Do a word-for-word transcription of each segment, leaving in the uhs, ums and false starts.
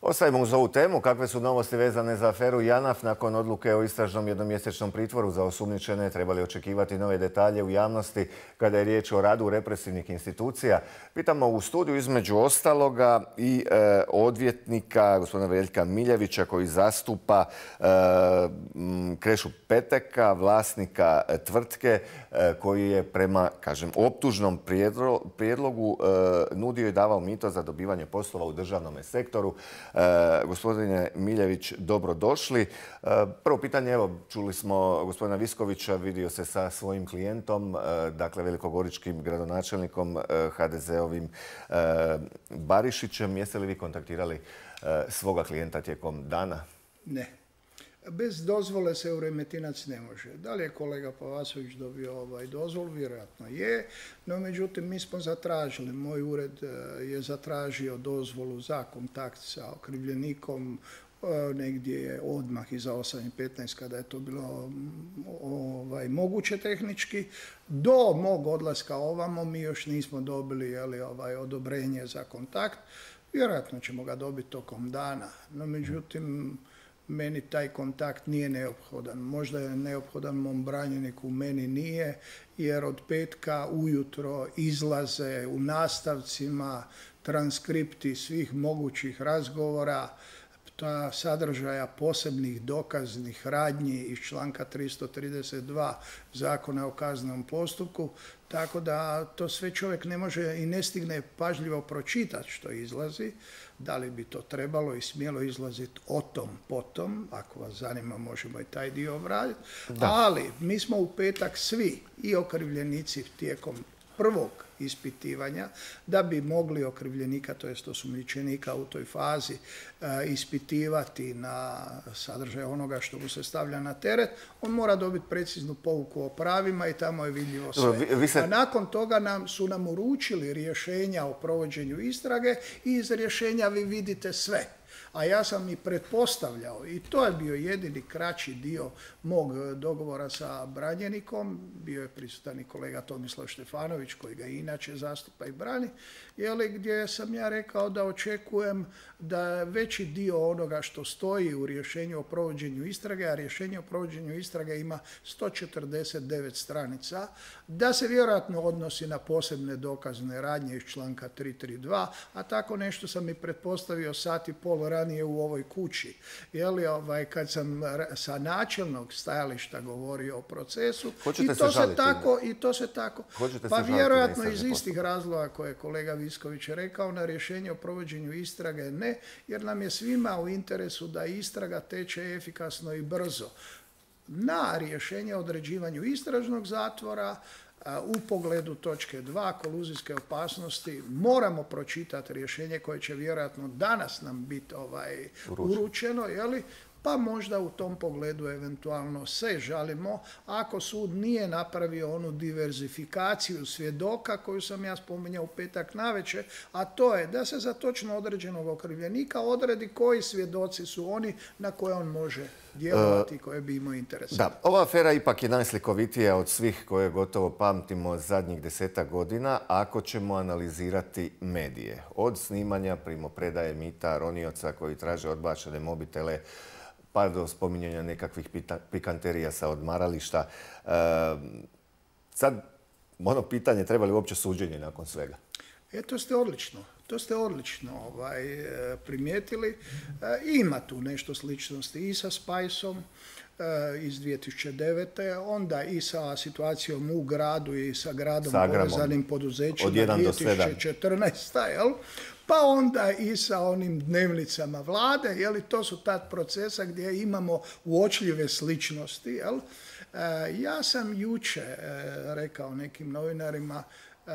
Ostavimo uz ovu temu. Kakve su novosti vezane za aferu JANAF? Nakon odluke o istražnom jednomjesečnom pritvoru za osumnjičene trebali očekivati nove detalje u javnosti kada je riječ o radu represivnih institucija. Pitamo u studiju između ostaloga i e, odvjetnika gospodina Veljka Miljevića koji zastupa e, Krešu Peteka, vlasnika tvrtke e, koji je prema, kažem, optužnom prijedlogu e, nudio i davao mito za dobivanje poslova u državnom sektoru. E, gospodine Miljević, dobrodošli. E, prvo pitanje, evo, čuli smo gospodina Viskovića, vidio se sa svojim klijentom, e, dakle velikogoričkim gradonačelnikom, e, ha de ze-ovim e, Barišićem. Jeste li vi kontaktirali e, svoga klijenta tijekom dana? Ne. Bez dozvole se u Remetinac ne može. Da li je kolega Pavasović dobio ovaj dozvol? Vjerojatno je. No, međutim, mi smo zatražili, moj ured je zatražio dozvolu za kontakt sa okrivljenikom negdje je odmah iza osam i petnaest kada je to bilo ovaj, moguće tehnički. Do mog odlaska ovamo mi još nismo dobili jeli, ovaj, odobrenje za kontakt. Vjerojatno ćemo ga dobiti tokom dana. No, međutim, meni taj kontakt nije neophodan. Možda je neophodan mom branjeniku, meni nije, jer od petka ujutro izlaze u nastavcima transkripti svih mogućih razgovora, ta sadržaja posebnih dokaznih radnji iz članka tristo trideset dva Zakona o kaznenom postupku, tako da to sve čovjek ne može i ne stigne pažljivo pročitati što izlazi. Da li bi to trebalo i smjelo izlaziti o tom potom, ako vas zanima možemo i taj dio obraditi. Ali mi smo u petak svi i okrivljenici tijekom prvog ispitivanja, da bi mogli okrivljenika, to jest osumnjičenika u toj fazi e, ispitivati na sadržaj onoga što mu se stavlja na teret, on mora dobiti preciznu pouku o pravima i tamo je vidljivo sve. Vi, vi se... A nakon toga nam, su nam uručili rješenja o provođenju istrage i iz rješenja vi vidite sve. A ja sam i pretpostavljao, i to je bio jedini kraći dio mog dogovora sa branjenikom, bio je prisutan i kolega Tomislav Štefanović, koji ga inače zastupa i brani, jeli, gdje sam ja rekao da očekujem da veći dio onoga što stoji u rješenju o provođenju istrage, a rješenje o provođenju istrage ima sto četrdeset devet stranica, da se vjerojatno odnosi na posebne dokazne radnje iz članka tristo trideset dva, a tako nešto sam i pretpostavio sat i pol ranije u ovoj kući. Jeli, ovaj, kad sam sa načelnog stajališta govorio o procesu, i to, se tako, i to se tako, Hoćete pa se vjerojatno iz istih razloga koje je kolega Visković rekao, na rješenje o provođenju istrage ne, jer nam je svima u interesu da istraga teče efikasno i brzo. Na rješenje o određivanju istražnog zatvora u pogledu točke dva koluzijske opasnosti moramo pročitati rješenje koje će vjerojatno danas nam biti ovaj, uručeno, jeli? Pa možda u tom pogledu eventualno se žalimo ako sud nije napravio onu diverzifikaciju svjedoka koju sam ja spominjao u petak navečer, a to je da se za točno određenog okrivljenika odredi koji svjedoci su oni na koje on može djelovati i koje bi imao interes. Da, ova afera ipak je najslikovitija od svih koje gotovo pamtimo zadnjih desetak godina ako ćemo analizirati medije. Od snimanja primopredaje mita, ronioca koji traže odbačene mobitele, pa do spominjanja nekakvih pikanterija sa odmarališta. E, sad, ono pitanje, treba li uopće suđenje nakon svega? E, to ste odlično. To ste odlično ovaj, primijetili. E, ima tu nešto sličnosti i sa Spajsom e, iz dvije tisuće devete. Onda i sa situacijom u gradu i sa gradom povezanim poduzećima dvije tisuće četrnaeste. Jel? Pa onda i sa onim dnevnicama vlade, jeli, to su tad procesa gdje imamo uočljive sličnosti. Jel? E, ja sam juče e, rekao nekim novinarima e,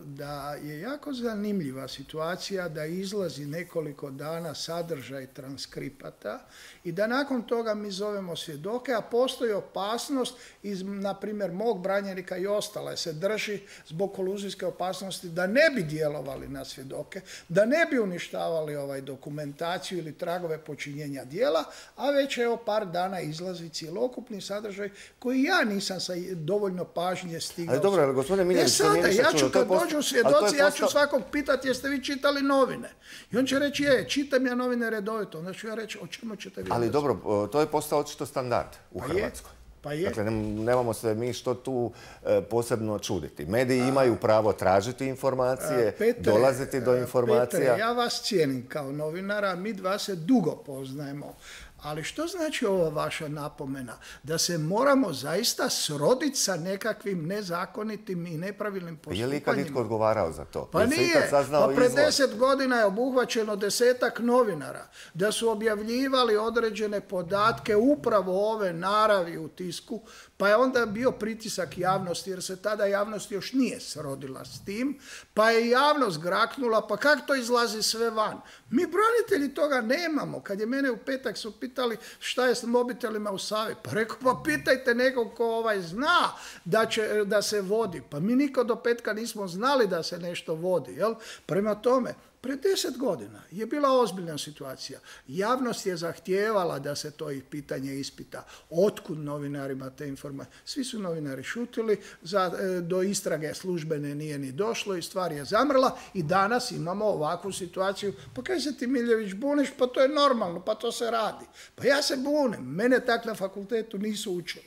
da je jako zanimljiva situacija da izlazi nekoliko dana sadržaj transkripata i da nakon toga mi zovemo svjedoke, a postoji opasnost iz, na primjer, mog branjenika i ostale se drži zbog koluzijske opasnosti da ne bi djelovali na svjedoke, da ne bi uništavali ovaj dokumentaciju ili tragove počinjenja djela, a već evo par dana izlazi cjelokupni sadržaj koji ja nisam sa dovoljno pažnje stigao. Ali dobro, ali gospodine Miljević, e sada, ja ću kad post... dođu svjedoci, posta... ja ću svakog pitati jeste vi čitali novine. I on će reći, je, čitam ja novine redovito. Onda ću ja reći, o čemu ćete vi... Ali dobro, to je postao očito standard u pa Hrvatskoj. Je. Pa je. Dakle, nemamo se mi što tu e, posebno čuditi. Mediji A, imaju pravo tražiti informacije, Petre, dolaziti do informacija. Petre, ja vas cijenim kao novinara, mi dva se dugo poznajemo. Ali što znači ova vaša napomena? Da se moramo zaista sroditi sa nekakvim nezakonitim i nepravilnim postupanjima? Je li ikad itko odgovarao za to? Pa nije. Pa pred deset godina je obuhvaćeno desetak novinara da su objavljivali određene podatke upravo ove naravi u tisku, pa je onda bio pritisak javnosti, jer se tada javnost još nije srodila s tim, pa je javnost graknula, pa kako to izlazi sve van? Mi branitelji toga nemamo. Kad je mene u petak su pitali šta je s mobitelima u Savi, pa rekao, pa pitajte nekog ko ovaj zna da, će, da se vodi. Pa mi niko do petka nismo znali da se nešto vodi. Jel? Prema tome, pred deset godina je bila ozbiljna situacija. Javnost je zahtijevala da se to pitanje ispita. Otkud novinarima te informacije? Svi su novinari šutili, za, do istrage službene nije ni došlo i stvar je zamrla i danas imamo ovakvu situaciju. Pa kaj se ti Miljević buniš? Pa to je normalno, pa to se radi. Pa ja se bunim, mene tak na fakultetu nisu učili.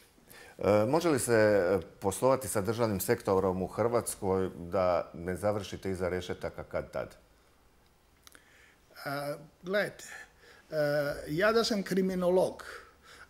E, može li se poslovati sa državnim sektorom u Hrvatskoj da ne završite iza rešetaka kad tad? A, gledajte, a, ja da sam kriminolog,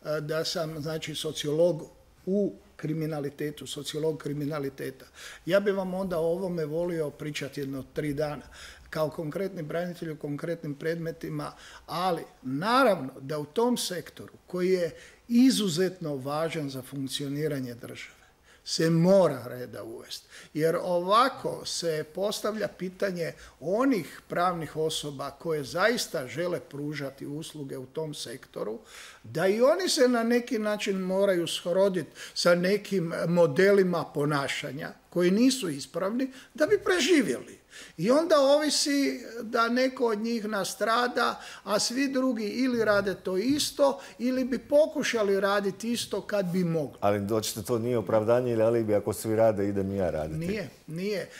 a, da sam znači sociolog u kriminalitetu, sociolog kriminaliteta, ja bi vam onda o ovome volio pričati jedno tri dana kao konkretni branitelj u konkretnim predmetima, ali naravno da u tom sektoru koji je izuzetno važan za funkcioniranje države se mora reda uvesti. Jer ovako se postavlja pitanje onih pravnih osoba koje zaista žele pružati usluge u tom sektoru, da i oni se na neki način moraju sroditi sa nekim modelima ponašanja koji nisu ispravni da bi preživjeli. I onda ovisi da neko od njih nastrada, a svi drugi ili rade to isto, ili bi pokušali raditi isto kad bi mogli. Ali doćete, to nije opravdanje ili alibi, ako svi rade, idem i ja raditi. Nije, nije.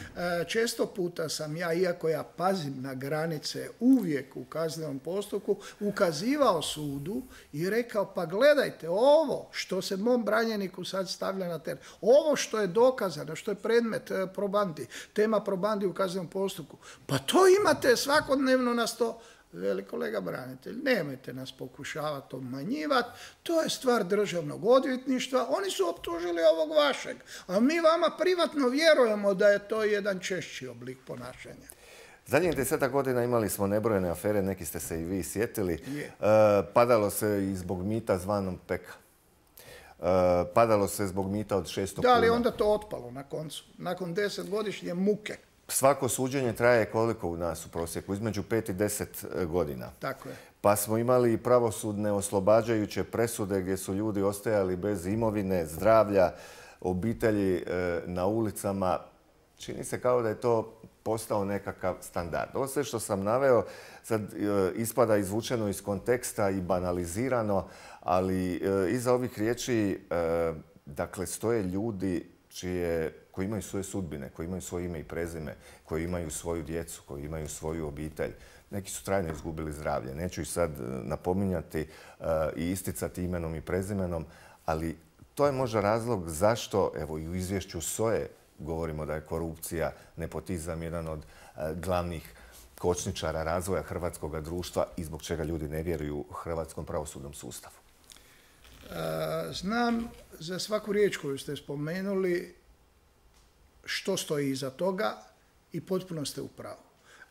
Često puta sam ja, iako ja pazim na granice uvijek u kaznenom postupku, ukazivao sudu i rekao, pa gledajte, ovo što se mom branjeniku sad stavlja na teren, ovo što je dokazano, što je predmet probandi, tema probandi u kaznenom postupku, pa to imate svakodnevno na sto. Veli kolega branitelj, nemojte nas pokušavati obmanjivati, to je stvar državnog odvjetništva, oni su optužili ovog vašeg, a mi vama privatno vjerujemo da je to jedan češći oblik ponašanja. Zadnjih desetak godina imali smo nebrojene afere, neki ste se i vi sjetili. E, padalo se i zbog mita zvanom Peka. E, padalo se zbog mita od šesto kuna. Da, ali onda to otpalo na koncu, nakon desetgodišnje muke. Svako suđenje traje koliko u nas u prosjeku? Između pet i deset godina. Tako je. Pa smo imali pravosudne oslobađajuće presude gdje su ljudi ostajali bez imovine, zdravlja, obitelji na ulicama. Čini se kao da je to postao nekakav standard. Ovo sve što sam naveo sad ispada izvučeno iz konteksta i banalizirano, ali iza ovih riječi dakle stoje ljudi čije, koji imaju svoje sudbine, koji imaju svoje ime i prezime, koji imaju svoju djecu, koji imaju svoju obitelj. Neki su trajno izgubili zdravlje. Neću ih sad napominjati uh, i isticati imenom i prezimenom, ali to je možda razlog zašto, evo i u izvješću S O E govorimo da je korupcija, nepotizam jedan od uh, glavnih kočničara razvoja hrvatskog društva i zbog čega ljudi ne vjeruju hrvatskom pravosudnom sustavu. Uh, znam za svaku riječ koju ste spomenuli što stoji iza toga i potpuno ste u pravu.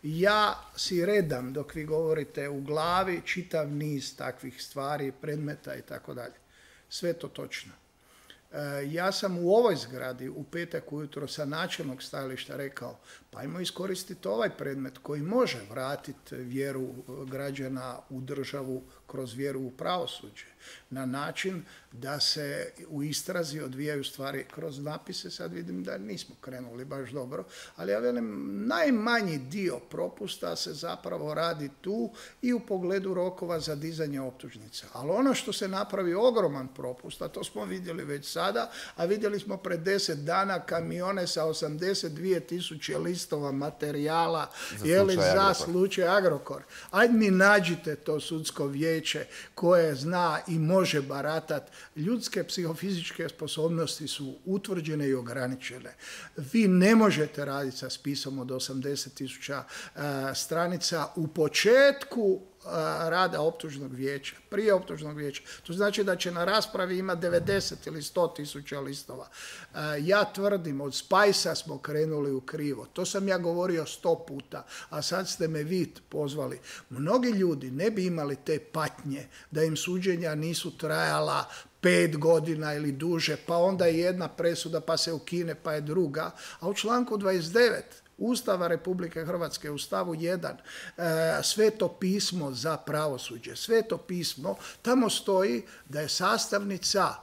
Ja si redam dok vi govorite u glavi čitav niz takvih stvari, predmeta i tako dalje. Sve to točno. Ja sam u ovoj zgradi u petak ujutro sa načelnog stajališta rekao pa ajmo iskoristiti ovaj predmet koji može vratiti vjeru građana u državu kroz vjeru u pravosuđe na način da se u istrazi odvijaju stvari kroz napise. Sad vidim da nismo krenuli baš dobro, ali ja velim najmanji dio propusta se zapravo radi tu i u pogledu rokova za dizanje optužnica. Ali ono što se napravi ogroman propust, a to smo vidjeli već sad sada, a vidjeli smo pred deset dana kamione sa osamdeset dvije tisuće listova materijala za je li, slučaj za Agrokor. slučaj Agrokor. Ajde mi nađite to sudsko vijeće koje zna i može baratat. Ljudske psihofizičke sposobnosti su utvrđene i ograničene. Vi ne možete raditi sa spisom od osamdeset tisuća uh, stranica u početku rada optužnog vijeća, prije optužnog vijeća. To znači da će na raspravi imati devedeset ili sto tisuća listova. Ja tvrdim, od Spajsa smo krenuli u krivo. To sam ja govorio sto puta, a sad ste me vi pozvali. Mnogi ljudi ne bi imali te patnje da im suđenja nisu trajala pet godina ili duže, pa onda je jedna presuda, pa se ukine, pa je druga. A u članku dvadeset devet Ustava Republike Hrvatske u stavu jedan, Sveto pismo za pravosuđe, Sveto pismo, tamo stoji da je sastavnica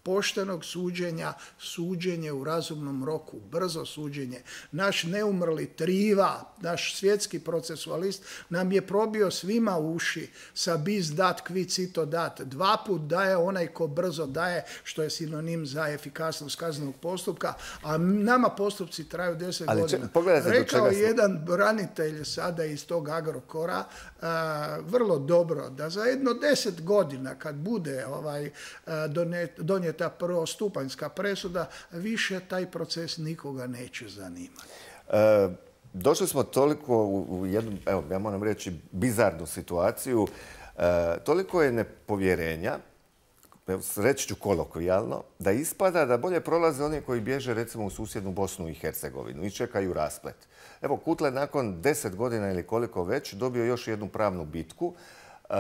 poštenog suđenja, suđenje u razumnom roku, brzo suđenje. Naš neumrli Triva, naš svjetski procesualist, nam je probio svima uši sa bis dat, qui cito dat. Dva put daje onaj ko brzo daje, što je sinonim za efikasnost kaznenog postupka, a nama postupci traju deset Ali godina. Če, Rekao je smo... jedan branitelj sada iz tog Agrokora, a, vrlo dobro, da za jedno deset godina kad bude ovaj, donijeta prvostupanjska presuda, više taj proces nikoga neće zanimati. E, došli smo toliko u, u jednu, evo, ja moram reći, bizarnu situaciju. E, toliko je nepovjerenja, reći ću kolokvijalno, da ispada da bolje prolaze oni koji bježe recimo u susjednu Bosnu i Hercegovinu i čekaju rasplet. Evo, Kutle nakon deset godina ili koliko već dobio još jednu pravnu bitku, e,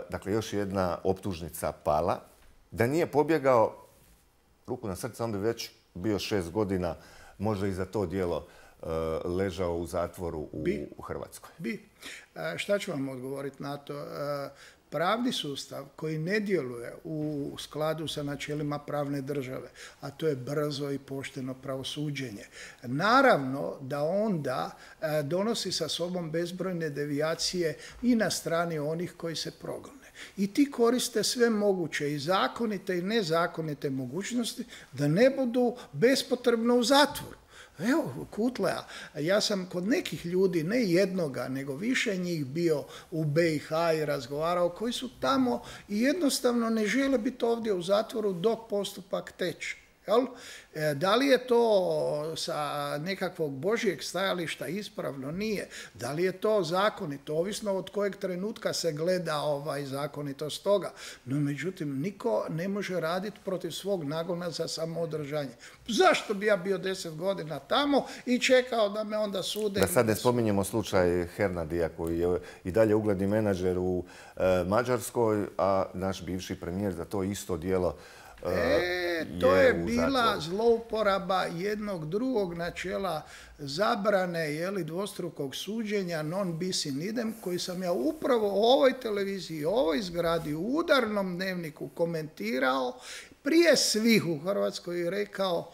dakle još jedna optužnica pala. Da nije pobjegao, ruku na srce, on bi već bio šest godina, možda i za to djelo e, ležao u zatvoru u, bi, u Hrvatskoj. Bi. E, šta ću vam odgovoriti na to? E, pravni sustav koji ne djeluje u skladu sa načelima pravne države, a to je brzo i pošteno pravosuđenje. Naravno da onda e, donosi sa sobom bezbrojne devijacije i na strani onih koji se progone. I ti koriste sve moguće i zakonite i nezakonite mogućnosti da ne budu bespotrebno u zatvoru. Evo, Kutlea, ja sam kod nekih ljudi, ne jednoga, nego više njih bio u be i ha i razgovarao, koji su tamo i jednostavno ne žele biti ovdje u zatvoru dok postupak teče. Jel? Da li je to sa nekakvog božjeg stajališta ispravno? Nije. Da li je to zakonito? Ovisno od kojeg trenutka se gleda ovaj zakonitost toga. No, međutim, niko ne može raditi protiv svog nagona za samoodržanje. Zašto bi ja bio deset godina tamo i čekao da me onda sude? Da sad ne spominjemo slučaj Hernadija koji je i dalje ugledni menadžer u e, Mađarskoj, a naš bivši premijer za to isto djelo E, to je, je bila zlouporaba jednog drugog načela zabrane jeli, dvostrukog suđenja non bis in idem, koji sam ja upravo u ovoj televiziji, u ovoj zgradi, u udarnom dnevniku komentirao prije svih u Hrvatskoj i rekao: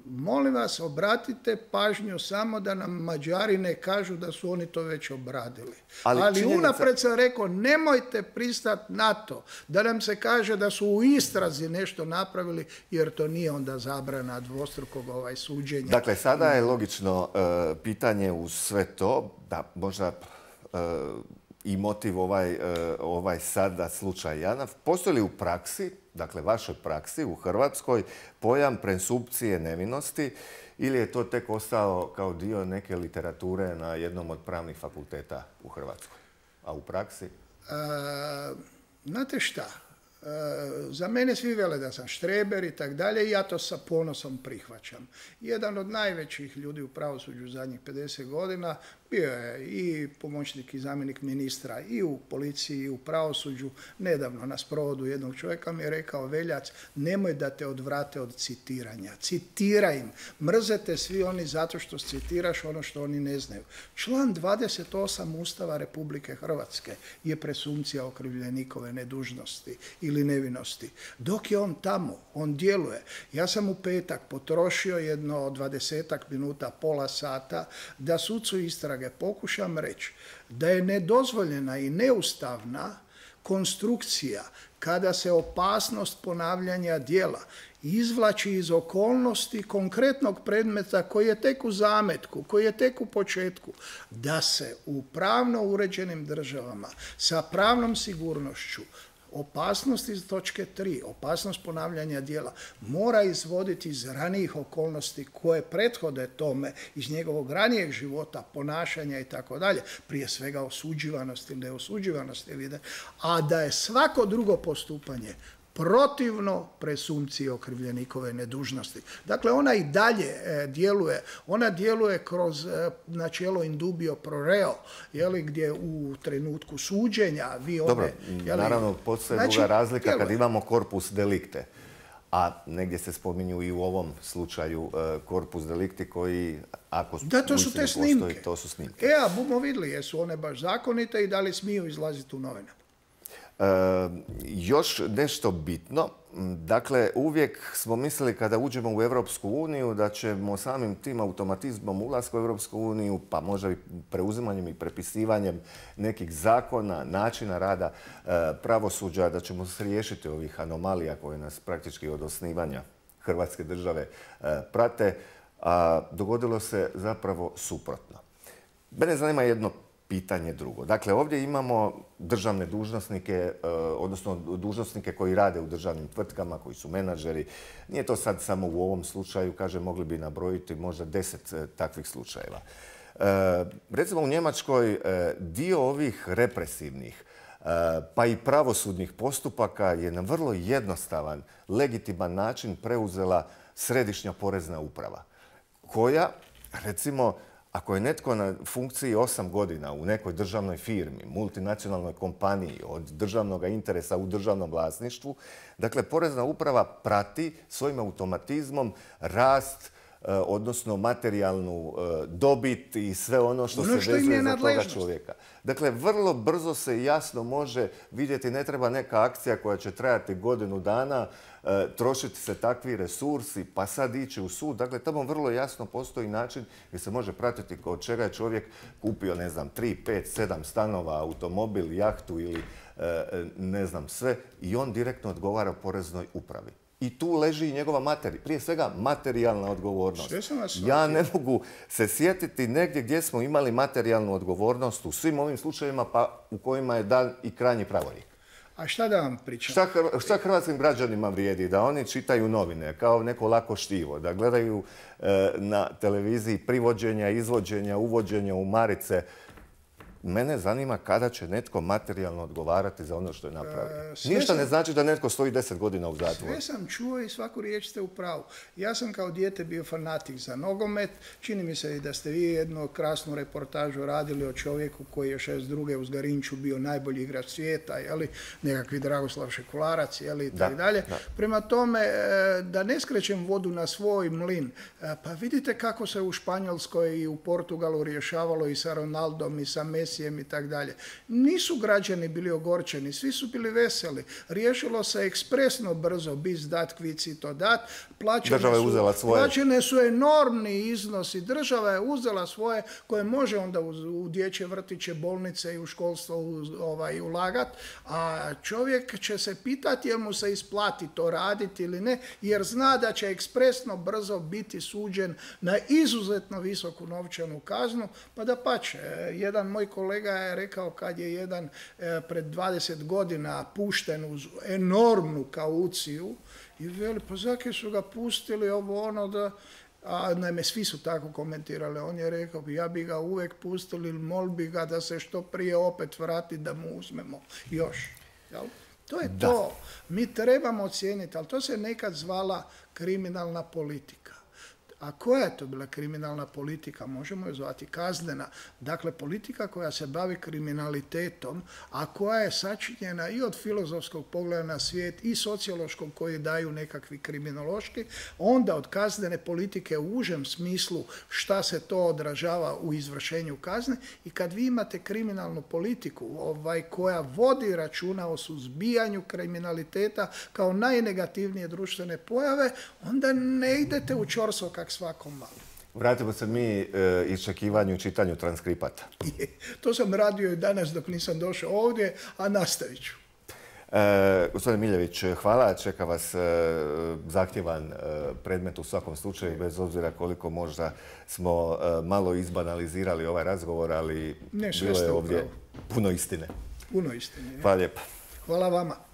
molim vas, obratite pažnju samo da nam Mađari ne kažu da su oni to već obradili. Ali, Ali činjenica... unapred sam rekao, nemojte pristati na to da nam se kaže da su u istrazi nešto napravili, jer to nije onda zabrana dvostrukog ovaj suđenja. Dakle, sada je logično uh, pitanje uz sve to, da možda uh, i motiv ovaj, uh, ovaj sada slučaj Janaf. Postoji li u praksi, dakle vašoj praksi u Hrvatskoj, pojam presumpcije nevinosti ili je to tek ostao kao dio neke literature na jednom od pravnih fakulteta u Hrvatskoj? A u praksi? E, znate šta? E, za mene svi vele da sam štreber i tak dalje i ja to sa ponosom prihvaćam. Jedan od najvećih ljudi u pravosuđu zadnjih pedeset godina bio je i pomoćnik i zamjenik ministra i u policiji i u pravosuđu. Nedavno na sprovodu jednog čovjeka mi je rekao: Veljac, nemoj da te odvrate od citiranja. Citiraj im. Mrzete svi oni zato što citiraš ono što oni ne znaju. Član dvadeset osam Ustava Republike Hrvatske je presumpcija okrivljenikove nedužnosti ili nevinosti. Dok je on tamo, on djeluje. Ja sam u petak potrošio jedno dvadesetak minuta, pola sata da sucu istrage pokušam reći da je nedozvoljena i neustavna konstrukcija, kada se opasnost ponavljanja djela izvlači iz okolnosti konkretnog predmeta koji je tek u zametku, koji je tek u početku, da se u pravno uređenim državama sa pravnom sigurnošću opasnost iz točke tri, opasnost ponavljanja djela, mora izvoditi iz ranijih okolnosti koje prethode tome, iz njegovog ranijeg života, ponašanja i tako dalje, prije svega osuđivanosti ili neosuđivanosti, a da je svako drugo postupanje protivno presumpciji okrivljenikove nedužnosti. Dakle, ona i dalje e, djeluje. Ona djeluje kroz e, načelo in dubio pro reo, jeli, gdje u trenutku suđenja vi one... Dobro, jeli, naravno, postoje znači, druga razlika djeluje. kad imamo corpus delicte. A negdje se spominju i u ovom slučaju e, corpus delicti koji, ako da, to su te snimke. Postoji, to su snimke. E, a bumo vidjeli, jesu one baš zakonite i da li smiju izlaziti u novine. E, još nešto bitno, dakle uvijek smo mislili kada uđemo u Europsku uniju da ćemo samim tim automatizmom ulaska u Europsku uniju, pa možda i preuzimanjem i prepisivanjem nekih zakona, načina rada e, pravosuđa, da ćemo se riješiti ovih anomalija koje nas praktički od osnivanja Hrvatske države e, prate, a dogodilo se zapravo suprotno. Mene zanima jedno pitanje drugo. Dakle, ovdje imamo državne dužnosnike, odnosno dužnosnike koji rade u državnim tvrtkama, koji su menadžeri. Nije to sad samo u ovom slučaju, kaže, mogli bi nabrojiti možda deset takvih slučajeva. Recimo u Njemačkoj dio ovih represivnih pa i pravosudnih postupaka je na vrlo jednostavan, legitiman način preuzela središnja porezna uprava, koja, recimo, ako je netko na funkciji osam godina u nekoj državnoj firmi, multinacionalnoj kompaniji od državnog interesa u državnom vlasništvu, dakle, porezna uprava prati svojim automatizmom rast, odnosno materijalnu dobit i sve ono što ono se vezuje za toga nadležnost. čovjeka. Dakle, vrlo brzo se jasno može vidjeti, ne treba neka akcija koja će trajati godinu dana, trošiti se takvi resursi, pa sad ići u sud. Dakle, tamo vrlo jasno postoji način gdje se može pratiti kod čega je čovjek kupio, ne znam, tri, pet, sedam stanova, automobil, jahtu ili ne znam sve, i on direktno odgovara poreznoj upravi. I tu leži i njegova materija, prije svega materijalna odgovornost. Ja ne mogu se sjetiti negdje gdje smo imali materijalnu odgovornost u svim ovim slučajevima, pa u kojima je dan i krajnji pravorijek. A šta da vam pričam? Šta, šta hrvatskim građanima vrijedi? Da oni čitaju novine kao neko lako štivo, da gledaju e, na televiziji privođenja, izvođenja, uvođenja u marice. Mene zanima kada će netko materijalno odgovarati za ono što je napravio. E, Ništa sam, ne znači da netko stoji deset godina u zatvoru. Sve sam čuo i svaku riječ ste u pravu. Ja sam kao dijete bio fanatik za nogomet. Čini mi se i da ste vi jednu krasnu reportažu radili o čovjeku koji je šezdeset druge u Zgarinču bio najbolji igrač svijeta, jeli, nekakvi Dragoslav Šekularac, jeli, i tako dalje. Prema tome, da ne skrećem vodu na svoj mlin, pa vidite kako se u Španjolskoj i u Portugalu rješavalo i sa Ronaldom i sa Messi i tako dalje. Nisu građani bili ogorčeni, svi su bili veseli. Riješilo se ekspresno brzo, bis dat, kvici to dat. Država je uzela svoje. Plaćene su enormni iznosi. Država je uzela svoje koje može onda u, u dječje vrtiće, bolnice i u školstvo ovaj, ulagat. A čovjek će se pitati jel mu se isplati to raditi ili ne, jer zna da će ekspresno brzo biti suđen na izuzetno visoku novčanu kaznu. Pa da pače, jedan moj kolega je rekao kad je jedan e, pred dvadeset godina pušten uz enormnu kauciju i veli, pa zake su ga pustili ovo ono da... A naime, svi su tako komentirali. On je rekao, ja bi ga uvijek pustili, mol bi ga da se što prije opet vrati da mu uzmemo još. Jel? To je da. To. Mi trebamo ocijeniti, ali to se nekad zvala kriminalna politika. A koja je to bila kriminalna politika? Možemo je zvati kaznena. Dakle, politika koja se bavi kriminalitetom, a koja je sačinjena i od filozofskog pogleda na svijet i sociološkog koji daju nekakvi kriminološki, onda od kaznene politike u užem smislu šta se to odražava u izvršenju kazne. I kad vi imate kriminalnu politiku ovaj, koja vodi računa o suzbijanju kriminaliteta kao najnegativnije društvene pojave, onda ne idete u ćorsokak svakom malo. Vratimo se mi e, iščekivanju i čitanju transkripata. To sam radio i danas dok nisam došao ovdje, a nastavit ću. E, gospodin Miljević, hvala. Čeka vas e, zahtjevan e, predmet u svakom slučaju, bez obzira koliko možda smo e, malo izbanalizirali ovaj razgovor, ali ne, bilo je ovdje upravo puno istine. Puno istine. Hvala lijepa. Hvala vama.